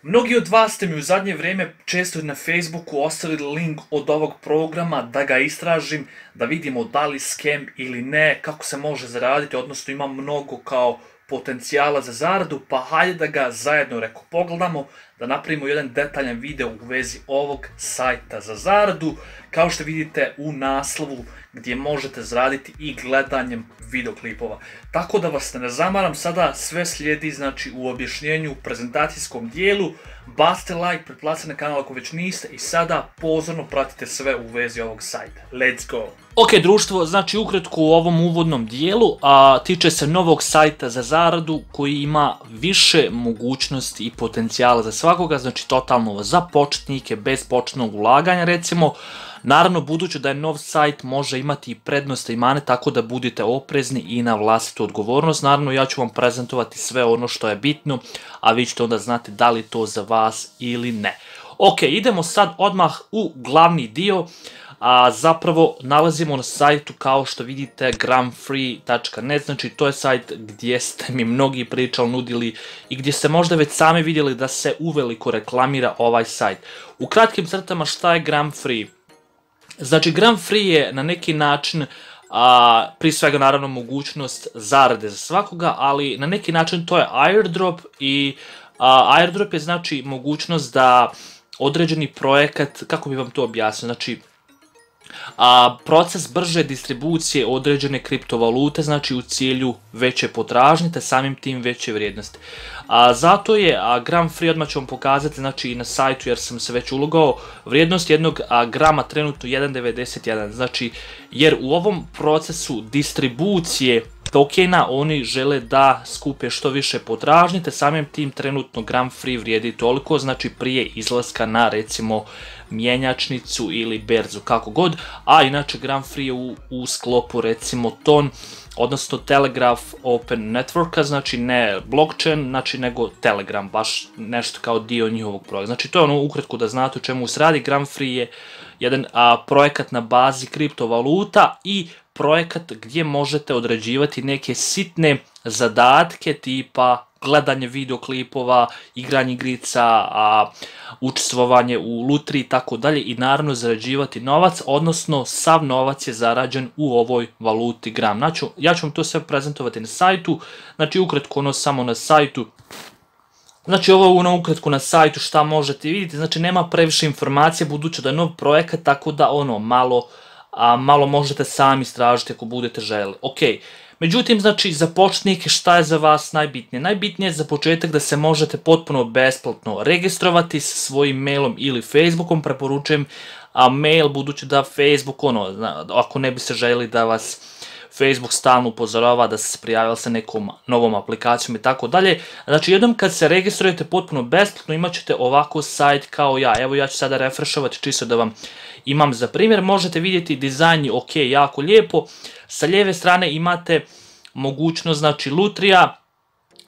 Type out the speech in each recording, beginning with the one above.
Mnogi od vas ste mi u zadnje vrijeme često na Facebooku ostavili link od ovog programa da ga istražim, da vidimo da li scam ili ne, kako se može zaraditi, odnosno ima mnogo kao potencijala za zaradu, pa hajde da ga zajedno pogledamo, da napravimo jedan detaljan video u vezi ovog sajta za zaradu, kao što vidite u naslovu gdje možete zaraditi i gledanjem videoklipova. Tako da vas ne zamaram, sada sve slijedi znači u objašnjenju u prezentacijskom dijelu. Bacite like, pretplatite na kanal ako već niste i sada pozorno pratite sve u vezi ovog sajta. Let's go! Ok društvo, znači ukratko u ovom uvodnom dijelu, tiče se novog sajta za zaradu koji ima više mogućnosti i potencijala za svakoga, znači totalno za početnike, bez početnog ulaganja recimo. Naravno, budući da je nov sajt, može imati i prednosti i mane, tako da budite oprezni i na vlastitu odgovornost. Naravno, ja ću vam prezentovati sve ono što je bitno, a vi ćete onda znati da li je to za vas ili ne. Ok, idemo sad odmah u glavni dio. Zapravo nalazimo na sajtu kao što vidite gramfree.net, znači to je sajt gdje ste mi mnogi pričali, nudili i gdje ste možda već sami vidjeli da se uveliko reklamira ovaj sajt. U kratkim crtama šta je Gramfree? Znači Gramfree je na neki način prije svega naravno mogućnost zarade za svakoga, ali na neki način to je airdrop i airdrop je znači mogućnost da određeni projekat, kako bi vam to objasnio, znači proces brže distribucije određene kriptovalute, znači u cilju veće potražnje, te samim tim veće vrijednosti. Zato je Gramfree, odmah ću vam pokazati, znači i na sajtu jer sam se već ulogao, vrijednost jednog grama trenutno 1,91, znači jer u ovom procesu distribucije tokena oni žele da skupe što više potražnje, te samim tim trenutno Gramfree vrijedi toliko, znači prije izlaska na recimo mjenjačnicu ili berzu, kako god, a inače Gramfree je u sklopu recimo TON, odnosno Telegraph Open Networka, znači ne blockchain, znači nego Telegram, baš nešto kao dio njihovog projekta. Znači to je ono ukratko da znate o čemu se radi. Gramfree je jedan projekat na bazi kriptovaluta i projekat gdje možete određivati neke sitne zadatke tipa gledanje videoklipova, igranje igrica, učestvovanje u lutriji i tako dalje i naravno zarađivati novac, odnosno sav novac je zarađen u ovoj valuti gram. Znači, ja ću vam to sve prezentovati na sajtu, znači ukratko ono samo na sajtu. Znači ovo je ono ukratko na sajtu šta možete vidjeti, znači nema previše informacije budući da je nov projekat, tako da ono malo možete sami istražiti ako budete željeli. Ok, međutim znači za početnike šta je za vas najbitnije? Najbitnije je za početak da se možete potpuno besplatno registrovati sa svojim mailom ili Facebookom, preporučujem mail budući da Facebook ako ne biste željeli da vas Facebook stalno upozorava da se prijavili sa nekom novom aplikacijom i tako dalje. Znači jednom kad se registrujete potpuno besplatno imat ćete ovako sajt kao ja. Evo ja ću sada refreshovati čisto da vam imam za primjer. Možete vidjeti dizajn je ok, jako lijepo. Sa lijeve strane imate mogućnost znači lutrija,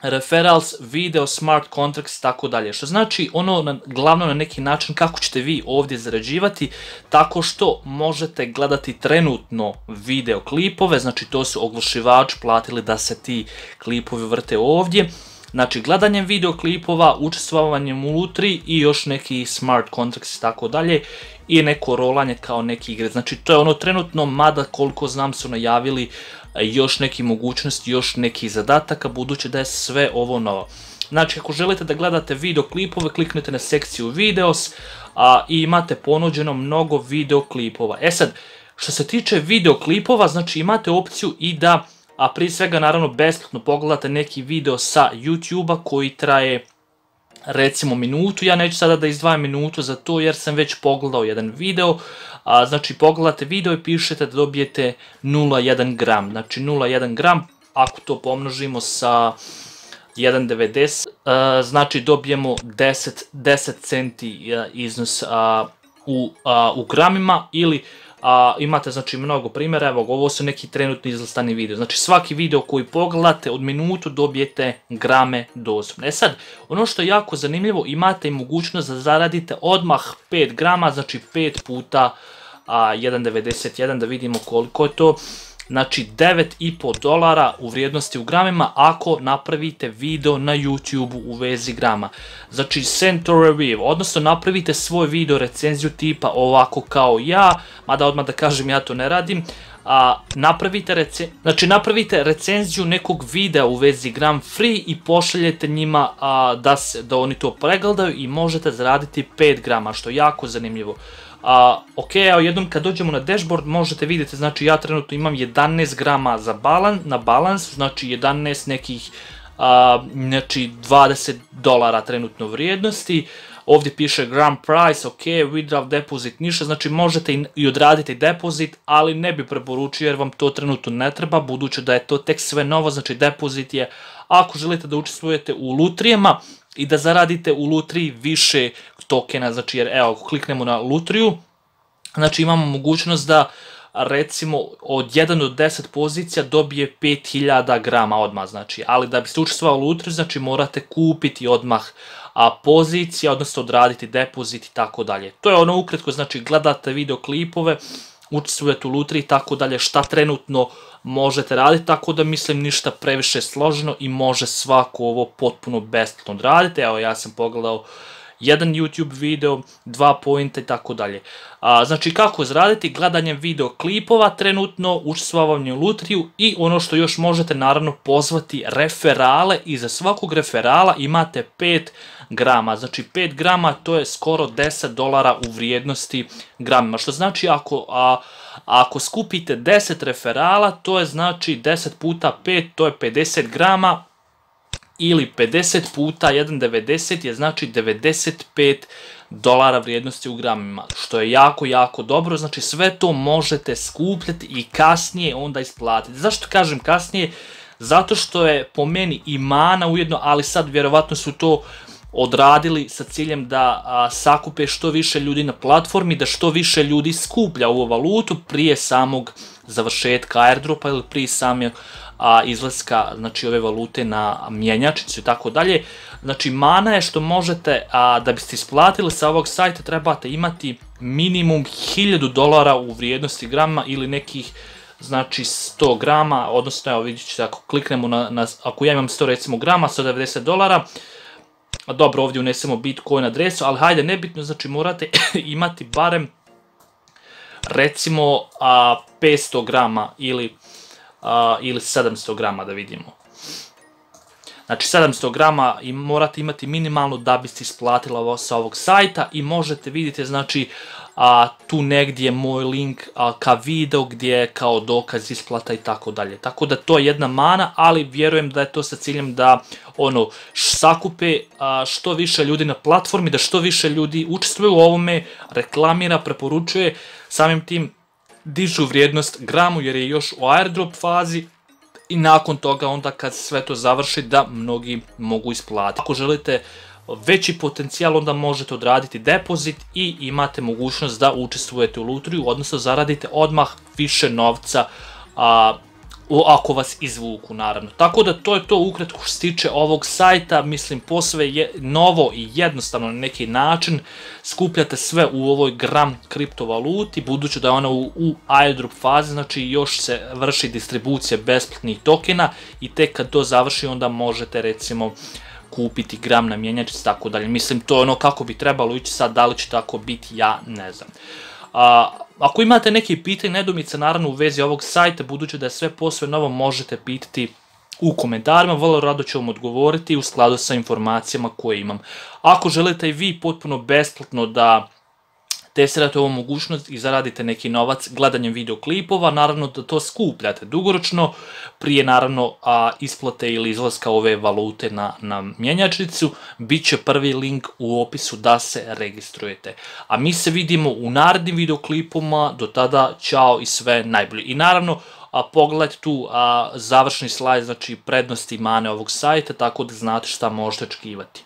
referrals, video, smart contracts i tako dalje. Što znači ono glavno na neki način kako ćete vi ovdje zarađivati, tako što možete gledati trenutno video klipove, znači to su oglašivači platili da se ti klipovi vrte ovdje. Znači gledanjem videoklipova, učestvovanjem u lutriji i još neki smart contracts i tako dalje i neko rolanje kao neki igre. Znači to je ono trenutno, mada koliko znam su najavili još neki mogućnosti, još neki zadataka, budući da je sve ovo novo. Znači ako želite da gledate videoklipove, kliknite na sekciju videos i imate ponuđeno mnogo videoklipova. E sad, što se tiče videoklipova, znači imate opciju i da prije svega naravno besplatno pogledate neki video sa YouTube-a koji traje recimo minutu. Ja neću sada da izdvajam minutu za to jer sam već pogledao jedan video. Znači pogledate video i pišete da dobijete 0,1 gram. Znači 0,1 gram, ako to pomnožimo sa 1,90, znači dobijemo 10 centi iznos u gramima ili imate znači mnogo primjera. Evo ovo su neki trenutni izlistani video. Znači svaki video koji pogledate od minutu dobijete grame doslovno. E sad, ono što je jako zanimljivo, imate i mogućnost da zaradite odmah 5 grama, znači 5 puta 1,91, da vidimo koliko je to. znači $9,5 u vrijednosti u gramima ako napravite video na YouTube u vezi grama. Znači send to review, odnosno napravite svoj video recenziju tipa ovako kao ja, mada odmah da kažem ja to ne radim, napravite recenziju nekog videa u vezi gram free i pošaljete njima da oni to pregledaju i možete zaraditi 5 grama, što je jako zanimljivo. Ok, evo jednom kad dođemo na dashboard možete vidjeti, znači ja trenutno imam 11 grama na balans, znači 11 nekih, znači $20 trenutno vrijednosti. Ovdje piše gram price, ok, withdraw deposit ništa, znači možete i odraditi depozit, ali ne bi preporučio jer vam to trenutno ne treba, budući da je to tek sve novo, znači depozit je ako želite da učestvujete u lutrijama i da zaradite u lutriji više tokena, znači jer evo, ako kliknemo na lutriju, znači imamo mogućnost da recimo od 1 do 10 pozicija dobije 5000 grama odmah, znači, ali da biste učestvovali u lutriju, znači morate kupiti odmah pozicija, odnosno odraditi depozit i tako dalje. To je ono ukratko, znači gledate video klipove, učestvujete u lutriji i tako dalje, šta trenutno možete raditi, tako da mislim ništa previše složeno i može svako ovo potpuno besplatno odraditi. Evo ja sam pogledao jedan YouTube video, 2 pointa i tako dalje. Znači kako zaraditi? Gledanjem video klipova trenutno, učestvovanje u lutriju i ono što još možete naravno pozvati referale i za svakog referala imate 5 grama. Znači 5 grama to je skoro $10 u vrijednosti gramima. Što znači ako skupite 10 referala to je znači 10 puta 5 to je 50 grama. Ili 50 puta 1,90 je znači $95 vrijednosti u gramima, što je jako, jako dobro, znači sve to možete skupljati i kasnije onda isplatiti. Zašto kažem kasnije? Zato što je po meni i mana ujedno, ali sad vjerovatno su to odradili sa ciljem da sakupe što više ljudi na platformi, da što više ljudi skuplja ovu valutu prije samog završetka airdropa ili prije samog izlaska, znači ove valute na mjenjačnicu i tako dalje. Znači mana je što možete, da biste isplatili sa ovog sajta trebate imati minimum $1000 u vrijednosti grama ili nekih znači 100 grama, odnosno evo vidjet ćete ako kliknemo ako ja imam 100 recimo grama, $190, dobro ovdje unesemo Bitcoin adresu, ali hajde nebitno, znači morate imati barem recimo 500 grama ili 700 grama da vidimo. Znači 700 grama i morate imati minimalno da biste isplatili ovo sa ovog sajta i možete vidjeti znači tu negdje moj link ka video gdje je kao dokaz isplata i tako dalje. Tako da to je jedna mana, ali vjerujem da je to sa ciljem da ono sakupe što više ljudi na platformi, da što više ljudi učestvuju u ovome, reklamira, preporučuje, samim tim dižu vrijednost gramu jer je još u airdrop fazi i nakon toga onda kad sve to završi da mnogi mogu isplatiti. Ako želite veći potencijal onda možete odraditi depozit i imate mogućnost da učestvujete u lutriju, odnosno zaradite odmah više novca ako vas izvuku naravno. Tako da to je to ukratko što se tiče ovog sajta, mislim posve je novo i jednostavno na neki način, skupljate sve u ovoj gram kriptovaluti, budući da je ona u airdrop fazi, znači još se vrši distribucija besplatnih tokena i tek kad to završi onda možete recimo kupiti gram na mjenjačnici i tako dalje. Mislim to je ono kako bi trebalo ići, sad da li će tako biti ja ne znam. Ako imate neke pitanje, nedoumice naravno u vezi ovog sajta, budući da je sve posve novo, možete pitati u komentarima, vrlo rado ću vam odgovoriti u skladu sa informacijama koje imam. Ako želite i vi potpuno besplatno da testirate ovu mogućnost i zaradite neki novac gledanjem videoklipova, naravno da to skupljate dugoročno, prije naravno isplate ili izlaska ove valute na mjenjačnicu, bit će prvi link u opisu da se registrujete. A mi se vidimo u narednim videoklipoma, do tada ćao i sve najbolje. I naravno pogledajte tu završni slajd, znači prednosti i mane ovog sajta, tako da znate šta možete očekivati.